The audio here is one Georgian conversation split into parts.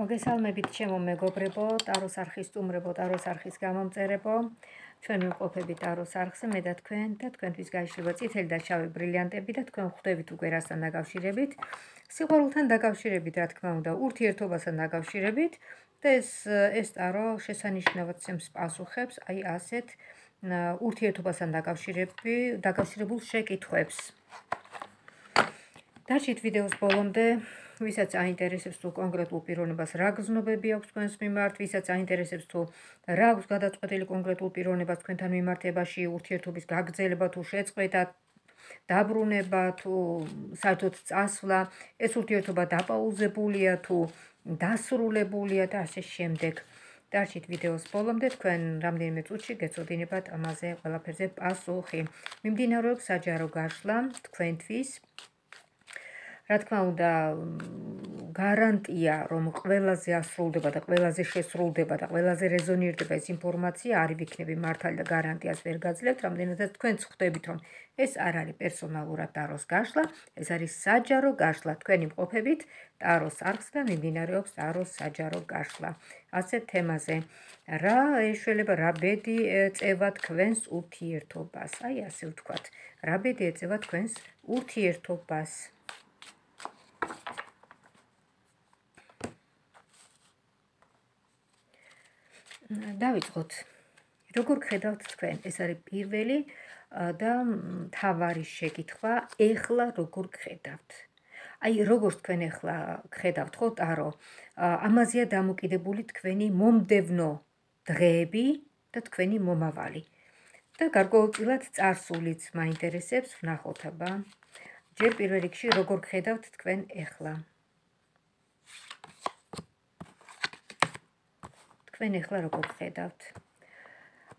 მოგესალმებით ჩემო მეგობრებო, ტაროს არხის სტუმრებო, ტაროს არხის გამომწერებო. ჩვენ ვიმყოფებით ტაროს არხზე, მე და თქვენთვის გაიშლება წითელი და შავი ბრილიანტები და თქვენ ხვდებით უკვე რასთან დაკავშირებით. სიყვარულთან დაკავშირებით, რა თქმა უნდა, ურთიერთობასთან დაკავშირებით და ეს ტარო შესანიშნავად ცემს პასუხებს, აი ასეთ ურთიერთობასთან დაკავშირებულ შეკითხვებს. დარჩით ვიდეოს ბოლომდე. Ვისაც აინტერესებს თუ კონკრეტულ პიროვნებას რა გზნობები აქვს თქვენს მიმართ, ვისაც აინტერესებს თუ რა აქვს გადაწყვეტილი კონკრეტულ პიროვნებას თქვენთან მიმართებაში, ურთიერთობის გაგრძელება თუ შეწყვეტა, დაბრუნება თუ საერთოდ წასვლა, ეს ურთიერთობა დაპაუზებულია თუ დასრულებულია და ასე შემდეგ. დარჩით ვიდეოს ბოლომდე, თქვენ რამდენიმე წუთში გეცოდინებათ ამაზე ყველაფერზე პასუხი. მიმდინარეობს საჯარო გაშლა თქვენთვის. რა თქმა უნდა, გარანტია, რომ ყველაზე ასრულდება და ყველაზე შესრულდება და ყველაზე რეზონირდება ეს ინფორმაცია, არ ვიქნები მართალი და გარანტიას ვერ გაძლევთ, რამდენადაც თქვენც ხვდებით, რომ ეს არ არის პერსონალურად ტაროს გაშლა, ეს არის საჯარო გაშლა. თქვენ იმყოფებით ტაროს არხზე და მიმდინარეობს ტაროს საჯარო გაშლა. ასეთ თემაზე, რა ეშველება, რა ბედი ეწევა თქვენს ურთიერთობას, აი ასე ვთქვათ, რა ბედი ეწევა თქვენს ურთიერთობას. დავიწყოთ. როგორ ხედავთ თქვენ? ეს არის პირველი და მთავარი შეკითხვა. ეხლა როგორ ხედავთ? აი, როგორ თქვენ ეხლა ხედავთ, ხო, ტარო? ამაზეა დამოკიდებული თქვენი მომდევნო დღეები და თქვენი მომავალი. და გარკვეულწილად წარსულიც მაინტერესებს, ვნახოთ აბა. ჯერ პირველ რიგში როგორ ხედავთ თქვენ ეხლა? თქვენ ეხლა როგორ ხედავთ?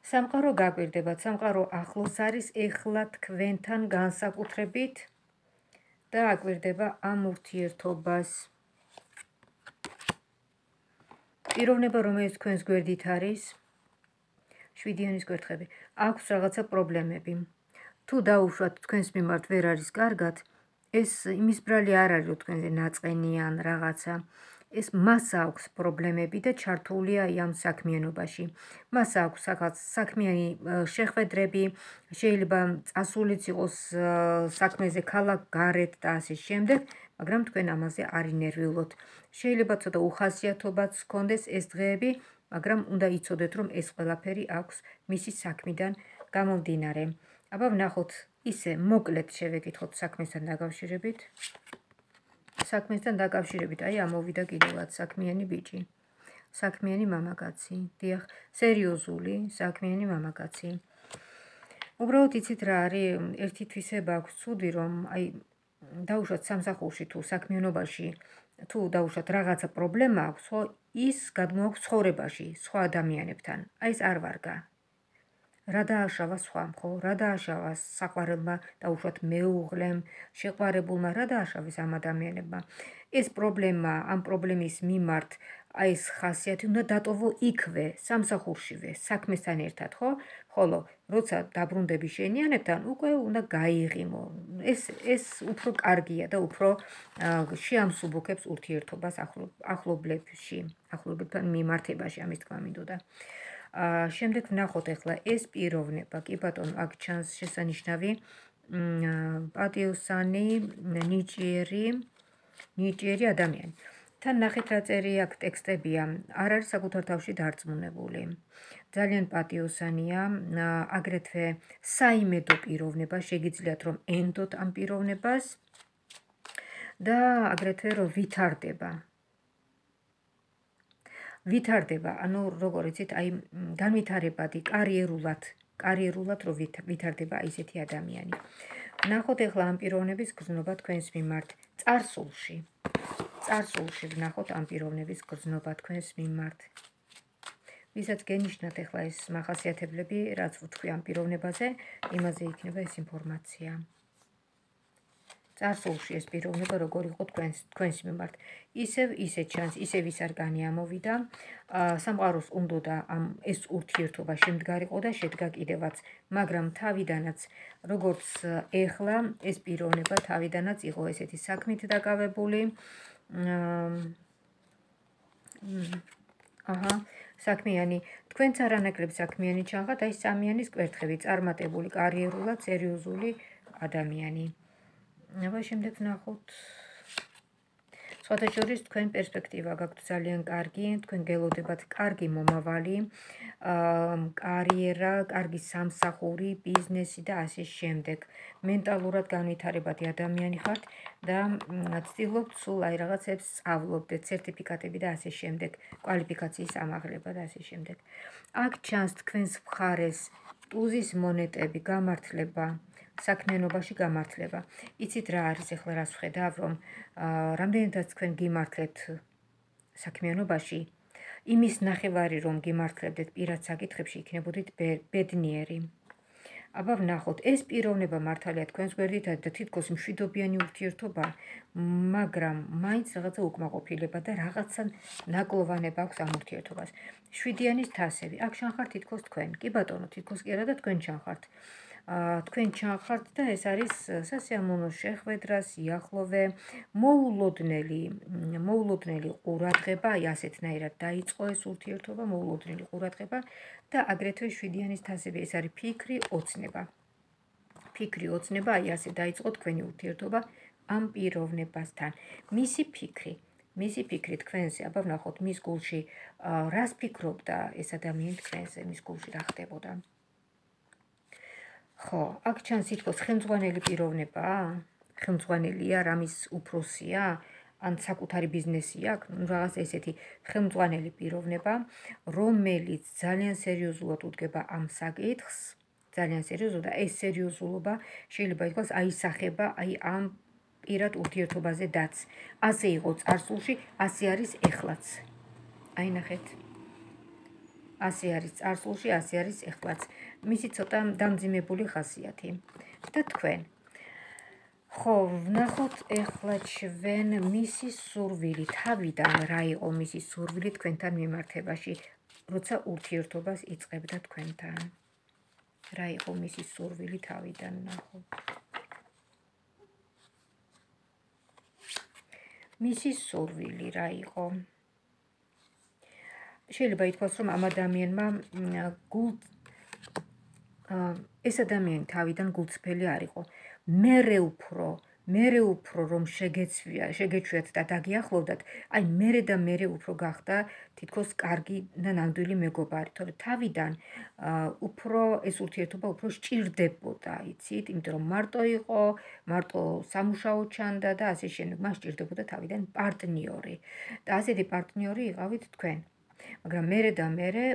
სამყარო გაგვირდებათ, სამყარო ახლოს არის ეხლა თქვენთან განსაკუთრებით და აკვირდება ამ ურთიერთობას. პიროვნება, რომელიც თქვენს გვერდით არის, 7-იანის გვერდხები, აქვს რაღაცა პრობლემები. თუ დაუშვათ თქვენს მიმართ ვერ არის კარგად, ეს იმის ბრალი არ არის, რომ თქვენზე ნაწყენიან რაღაცა. ეს მას აქვს პრობლემები და ჩართულია ამ საქმიანობაში. მას აქვს საქმიანი შეხვედრები, შეიძლება წასულიც იყოს საქმეზე ქალაქ გარეთ და ასე შემდეგ, მაგრამ თქვენ ამაზე არ ინერვიულოთ. შეიძლება ცოტა უხასიათობაც ჰქონდეს ეს დღეები, მაგრამ უნდა იცოდეთ, რომ ეს ყველაფერი აქვს მისი საქმიდან გამომდინარე. აბა ვნახოთ, ისე მოკლედ შევეკითხოთ საქმესთან დაკავშირებით. საქმესთან დაკავშირებით, აი ამოვიდა კიდევაც საქმიანი ბიჭი, საქმიანი მამაკაცი, დიახ, სერიოზული საქმიანი მამაკაცი. უბრალოდ იცით რა არის, ერთი თვისება აქვს ცუდი, რომ აი დაუშვათ სამსახურში თუ საქმიანობაში, თუ დაუშვათ რაღაცა პრობლემა აქვს, ხო, ის გადმოაქვს ცხოვრებაში, სხვა ადამიანებთან. აი ეს არ ვარგა. რა დააშავა სხვამ, ხო? რა დააშავა საყვარელმა, დაუშვათ მეუღლემ, შეყვარებულმა, რა დააშავეს ამ ადამიანებმა. ეს პრობლემა, ამ პრობლემის მიმართ, აი ეს ხასიათი უნდა დატოვო იქვე, სამსახურშივე, საქმესთან ერთად, ხო? ხოლო, როცა დაბრუნდები შენიანებთან, უკვე უნდა გაიღიმო. ეს უფრო კარგია და უფრო შეამსუბუქებს ურთიერთობას ახლობლებთან მიმართებაში, ამის თქმა მინდოდა. შემდეგ ვნახოთ ახლა ეს პიროვნება, კი ბატონო, აქ ჩანს შესანიშნავი პატიოსანი, ნიჭიერი ადამიანი. თან ნახეთ რა წერია აქ ტექსტებია, არ არის საკუთარ თავში დარწმუნებული. ძალიან პატიოსანია, აგრეთვე საიმედო პიროვნება, შეგიძლიათ რომ ენდოთ ამ პიროვნებას და აგრეთვე რომ ვითარდება, ანუ როგორ იცით, აი განვითარებადი კარიერულად რომ ვითარდება ისეთი ადამიანი. ვნახოთ ახლა ამ პიროვნების გრძნობა თქვენს მიმართ წარსულში. წარსულში ვნახოთ ამ პიროვნების გრძნობა თქვენს მიმართ. ვისაც გენიშნათ ახლა ეს მახასიათებლები, რაც ვთქვი ამ პიროვნებაზე, იმაზე იქნება ეს ინფორმაცია. წარსულში ეს პიროვნება როგორ იყო თქვენს მიმართ. ისე ჩანს, ისევ ის არ განიამოვიდა. სამყაროს უნდოდა ეს ურთიერთობა შემდგარიყო და შედგა კიდევაც, მაგრამ თავიდანაც, როგორც ეხლა, ეს პიროვნება თავიდანაც იყო ესეთი საქმით დაკავებული. აჰა, საქმიანი, თქვენც არანაკლებ საქმიანი ჩანხართ, აი სამიანის კვერთხები, წარმატებული, კარიერულად სერიოზული ადამიანი. აბა შემდეგ ნახოთ. სხვათა შორის თქვენ პერსპექტივა გაქვთ ძალიან კარგი, თქვენ გელოდებათ კარგი მომავალი, კარიერა, კარგი სამსახური, ბიზნესი და ასე შემდეგ. მენტალურად განვითარებადი ადამიანი ხართ და ცდილობთ სულ აი რაღაცებს სწავლობდეთ, სერტიფიკატები და ასე შემდეგ, კვალიფიკაციის ამაღლება და ასე შემდეგ. აქ ჩანს თქვენს მხარეს ტუზის მონეტები, გამართლება, საქმიანობაში გამართლება. იცით რა არის ახლა რას ვხედავ, რომ რამდენადაც თქვენ გიმართლებთ საქმიანობაში, იმის ნახევარი რომ გიმართლებდეთ პირად საკითხებში, იქნებოდით ბედნიერი. აბა ვნახოთ, ეს პიროვნება მართალია თქვენს გვერდითაც და თითქოს მშვიდობიანი ურთიერთობა, მაგრამ მაინც რაღაცა უკმაყოფილება და რაღაცა ნაკლოვანება აქვს ამ ურთიერთობას. 7-იანის თასები, აქ ჩანხართ თითქოს თქვენ. კი ბატონო, თითქოს კი არა და თქვენ ჩანხართ. თქვენ ჩანხართ და ეს არის სასიამოვნო შეხვედრა, სიახლოვე, მოულოდნელი ყურადღება, აი ასეთნაირად დაიწყო ეს ურთიერთობა, მოულოდნელი ყურადღება და აგრეთვე 7-იანის თასები, ეს არის ფიქრი, ოცნება. ფიქრი, ოცნება, აი ასე დაიწყო თქვენი ურთიერთობა ამ პიროვნებასთან. მისი ფიქრი თქვენზე, აბა ვნახოთ მის გულში რას ფიქრობდა ეს ადამიანი თქვენზე, მის გულში რა ხდებოდა. ხო, აქ ჩანს თითქოს ხელმძღვანელი პიროვნებაა, ხელმძღვანელია, რამის უფროსია, ან საკუთარი ბიზნესი აქვს, რაღაც ესეთი ხელმძღვანელი პიროვნება, რომელიც ძალიან სერიოზულად უდგება ამ საკითხს, ძალიან სერიოზულად და ეს სერიოზულობა შეიძლება ითქვას აისახება აი ამ პირად ურთიერთობაზე დაც. ასე იყო წარსულში, ასე არის ეხლაც. აი ნახეთ. ასე არის წარსულში, ასე არის ეხლაც. მისი ცოტა დამძიმებული ხასიათი. და თქვენ. ხო, ვნახოთ ეხლა ჩვენ მისი სურვილი, თავიდან რა იყო მისი სურვილი თქვენთან მიმართებაში, როცა ურთიერთობას იწყებდა თქვენთან. რა იყო მისი სურვილი თავიდან ნახოთ. მისი სურვილი რა იყო? შეიძლება ითქვას, რომ ამ ადამიანმა ეს ადამიანი თავიდან გულწრფელი არ იყო. მერე უფრო რომ შეგეჩვიათ და დაგიახლოვდათ, აი მერე და მერე უფრო გახდა თითქოს კარგი და ნამდვილი მეგობარი, თორე თავიდან უფრო ეს ურთიერთობა უფრო სჭირდებოდა, იცით, იმიტომ რომ მარტო იყო, მარტო სამუშაო ჩანდა და ასე შემდეგ, მას სჭირდებოდა თავიდან პარტნიორი. და ასეთი პარტნიორი იყავით თქვენ. მაგრამ მერე და მერე,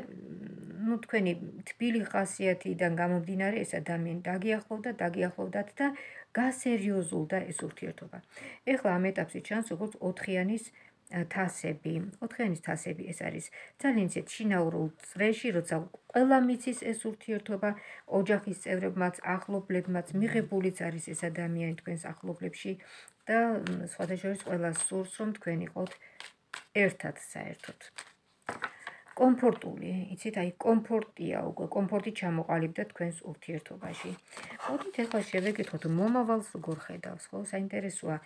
თქვენი თბილი ხასიათიდან გამომდინარე ეს ადამიანი დაგიახლოვდათ და გასერიოზულდა ეს ურთიერთობა. ეხლა ამ ეტაპზე ჩანს როგორც 4-იანის თასები. 4-იანის თასები ეს არის ძალიან ისეთ შინაურულ წრეში, როცა ყველა მიცის ეს ურთიერთობა, ოჯახის წევრებმაც, ახლობლებმაც, მიღებულიც არის ეს ადამიანი თქვენს ახლობლებში და სხვათა შორის ყველას სურს, რომ თქვენ იყოთ ერთად საერთოდ. კომფორტული, იცით, აი კომფორტია უკვე, კომფორტი ჩამოყალიბდა თქვენს ურთიერთობაში. მოდით ეხლა შევეკითხოთ, მომავალს როგორ ხედავს, ხო? საინტერესოა,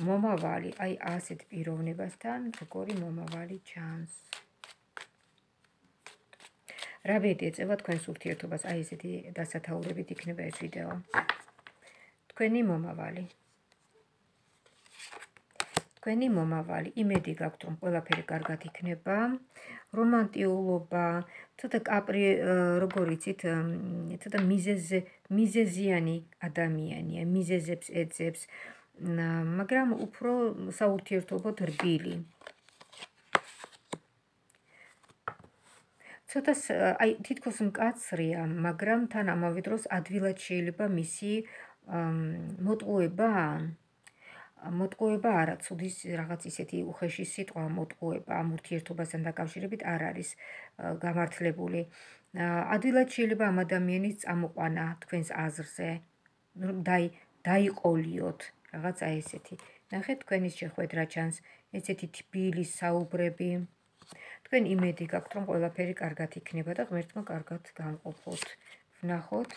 მომავალი, აი ასეთ პიროვნებასთან, როგორი მომავალი ჩანს. რა ბედი ეწევა თქვენს ურთიერთობას, აი ესეთი დასათაურებით იქნება ეს ვიდეო. თქვენი მომავალი, იმედი გაქვთ, რომ ყველაფერი კარგად იქნება, რომანტიულობა, ცოტა როგორ იცით, ცოტა მიზეზიანი ადამიანია, მიზეზებს ეძებს, მაგრამ უფრო საურთიერთობოდ რბილი. ცოტა აი თითქოს მკაცრია, მაგრამ თან ამავე დროს ადვილად შეიძლება მისი მოტყუება არა, ცუდის რაღაც ისეთი უხეში სიტყვა მოტყუება ამ ურთიერთობასთან დაკავშირებით არ არის გამართლებული. ადვილად შეიძლება ამ ადამიანის წამოყვანა თქვენს აზრზე, დაიყოლიოთ, რაღაცა ესეთი. ნახეთ, თქვენის შეხვედრა ჩანს, ესეთი თბილი საუბრები. თქვენ იმედი გაქვთ, რომ ყველაფერი კარგად იქნება და ღმერთმა კარგად გამყოფოთ. ვნახოთ,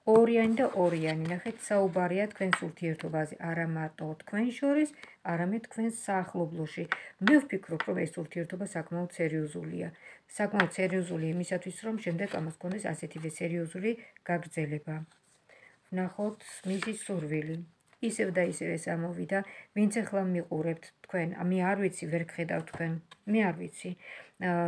ორიანი და ორიანი. ნახეთ, საუბარია თქვენს ურთიერთობაზე, არა მარტო თქვენ შორის, არამედ თქვენს საახლობლოში. მე ვფიქრობ, რომ ეს ურთიერთობა საკმაოდ სერიოზულია. საკმაოდ სერიოზული იმისათვის, რომ შემდეგ ამას გქონდეს ასეთივე სერიოზული გაგრძელება. ვნახოთ მისი სურვილი. ისევ და ისევ ეს ამოვიდა, ვინც ახლა მიყურებთ თქვენ, მე არ ვიცი, ვერ გხედავ თქვენ, მე არ ვიცი.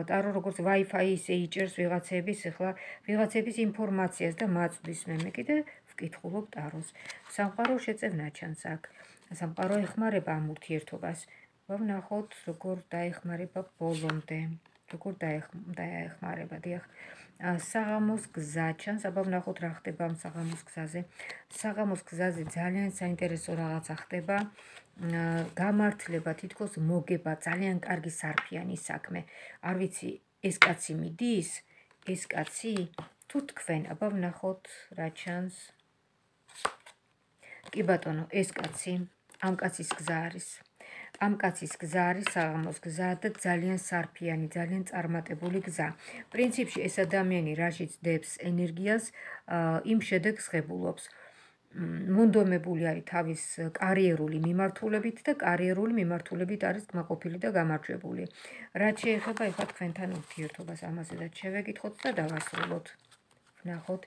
ტარო როგორც Wi-Fi ისე იჭერს ვიღაცების, ახლა ვიღაცების ინფორმაციას და მაწვდის მე კიდე ვკითხულობ ტაროს. სამყარო შეწევნა ჩანს აქ. სამყარო ეხმარება ამ ურთიერთობას. ვნახოთ, როგორ დაეხმარება ბოლომდე. როგორ დაეხმარება, დიახ. საღამოს გზა ჩანს, აბა ვნახოთ რა ხდება ამ საღამოს გზაზე. საღამოს გზაზე ძალიან საინტერესო რაღაცა ხდება. გამართლება, თითქოს მოგება, ძალიან კარგი სარფიანი საქმე. არ ვიცი, ეს კაცი მიდის, ეს კაცი თუ თქვენ, აბა ვნახოთ რა ჩანს. კი ბატონო, ეს კაცი, ამ კაცის გზა არის. ამ კაცის გზა არის საღამოს გზა და ძალიან სარფიანი, ძალიან წარმატებული გზა. პრინციპში ეს ადამიანი რაშიც დებს ენერგიას, იმ შედეგს ღებულობს. მონდომებული არის თავის კარიერული მიმართულებით და კარიერული მიმართულებით არის კმაყოფილი და გამარჯვებული. რაც შეეხება ეხლა თქვენთან ურთიერთობას, ამაზედაც შევეკითხოთ და დავასრულოთ. ვნახოთ,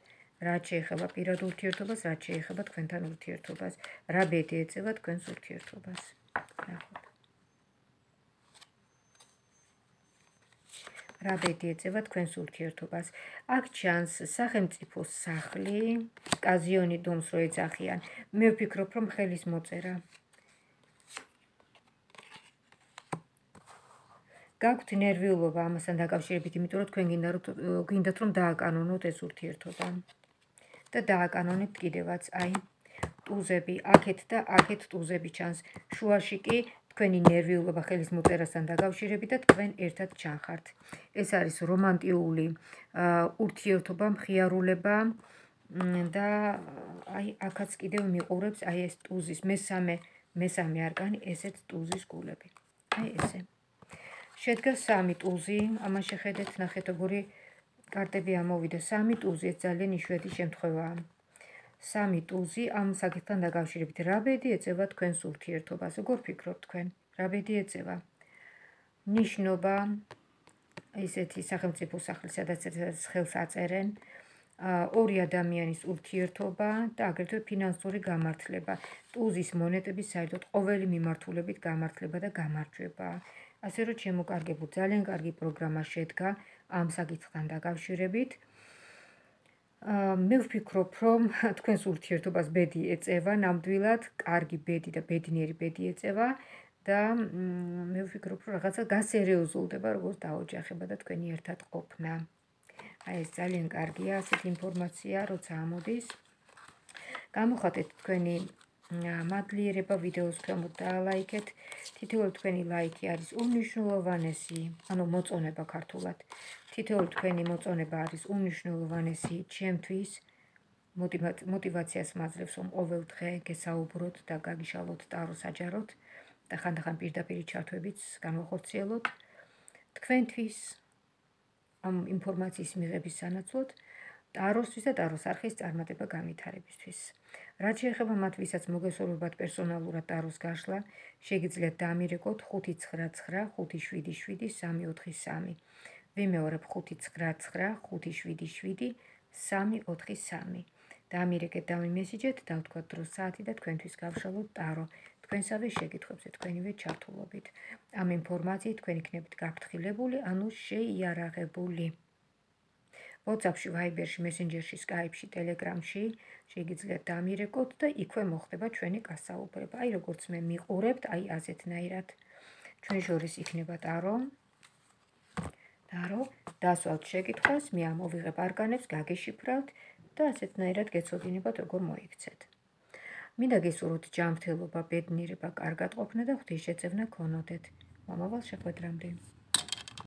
რაც შეეხება პირად ურთიერთობას, რაც შეეხება თქვენთან ურთიერთობას, რა ბედი ეწევა თქვენს ურთიერთობას. ვნახოთ. რა ბედი ეწევა თქვენს ურთიერთობას. აქ ჩანს სახელმწიფოს სახლი, კაზიონი დომს რო ეძახიან. მე ვფიქრობ, რომ ხელის მოწერა. გაქვთ ნერვიულობა ამასთან დაკავშირებით, იმიტომ რომ თქვენ გინდათ რომ დააკანონოთ ეს ურთიერთობა. და დააკანონებთ კიდევაც, აი, ტუზები, აქეთ და აქეთ ტუზები ჩანს. შუაში კი თქვენი ნერვიულობა ხელის მოწერასთან დაკავშირებით და თქვენ ერთად ჩანხართ. ეს არის რომანტიული ურთიერთობა, მხიარულება და აი აქაც კიდევ მიყურებს აი ეს ტუზის მესამე არკანი, ესეც ტუზის გულები. აი ესე. შედგა 3 ტუზი, ამან შეხედეთ, ნახეთ როგორი კარტები ამოვიდა. 3 ტუზი, ეს ძალიან იშვიათი შემთხვევაა. 3 ტუზი ამ საკითხთან დაკავშირებით. რა ბედი ეწევა თქვენს ურთიერთობას? როგორ ფიქრობთ თქვენ? რა ბედი ეწევა? ნიშნობა, ისეთი სახელმწიფო სახლი, სადაც ხელს აწერენ, ორი ადამიანის ურთიერთობა და აგრეთვე ფინანსური გამართლება. ტუზის მონეტების საერთოდ ყოველი მიმართულებით გამართლება და გამარჯვება. ასე რომ შემოკარგებულ ძალიან კარგი პროგრამა შედგა ამ საკითხთან დაკავშირებით. მე ვფიქრობ, რომ თქვენს ურთიერთობას ბედი ეწევა ნამდვილად, კარგი ბედი და ბედნიერი ბედი ეწევა და მე ვფიქრობ, რომ რაღაცა გასერიოზულდება, როგორც დაოჯახება და თქვენი ერთად ყოფნა. აი ეს ძალიან კარგია, ასეთი ინფორმაცია, როცა ამოდის. გამოხატეთ თქვენი მადლიერება ვიდეოს ქვემოთ დაალაიქეთ. თითოეული თქვენი ლაიქი არის უმნიშვნელოვანესი, ანუ მოწონება ქართულად. თითოეული თქვენი მოწონება არის უმნიშვნელოვანესი ჩემთვის. მოტივაციას მაძლევს, რომ ყოველ დღე გესაუბროთ და გაგიშალოთ ტარო საჯაროდ და ხანდახან პირდაპირ ჩართვებიც განვახორციელოთ. თქვენთვის ამ ინფორმაციის მიღების სანაცვლოდ ტაროსთვის და ტაროს არხის წარმატება განვითარებისთვის. რაც შეეხება მათ, ვისაც მოგესალმებათ პერსონალურად ტაროს გაშლა, შეგიძლიათ დამირეკოთ 599 577 343. ვიმეორებ 599 577 343. დამირეკეთ, დამიმესიჯეთ, დავთქვათ დროს საათი და თქვენთვის გავშალოთ ტარო. თქვენსავე შეკითხვებზე თქვენივე ჩართულობით. ამ ინფორმაციით თქვენ იქნებით გაფრთხილებული, ანუ შეიარაღებული. WhatsApp-ში, Viber-ში, Messenger-ში, Skype-ში, Telegram-ში შეგიძლიათ დამირეკოთ და იქვე მოხდება ჩვენი გასაუბრება. აი როგორც მე მიყურებთ, აი ასეთნაირად. ჩვენ შორის იქნება ტარო. დასვალთ შეკითხვას, მე ამოვიღებ არკანებს, გაგეშიფრავთ და ასეთნაირად გეცოდინებათ, როგორ მოიქცეთ. მინდა გესურვოთ ჯანმრთელობა, ბედნიერება, კარგად ყოფნა და ღვთისშეწევნა გქონოდეთ. მომავალ შეხვედრამდე.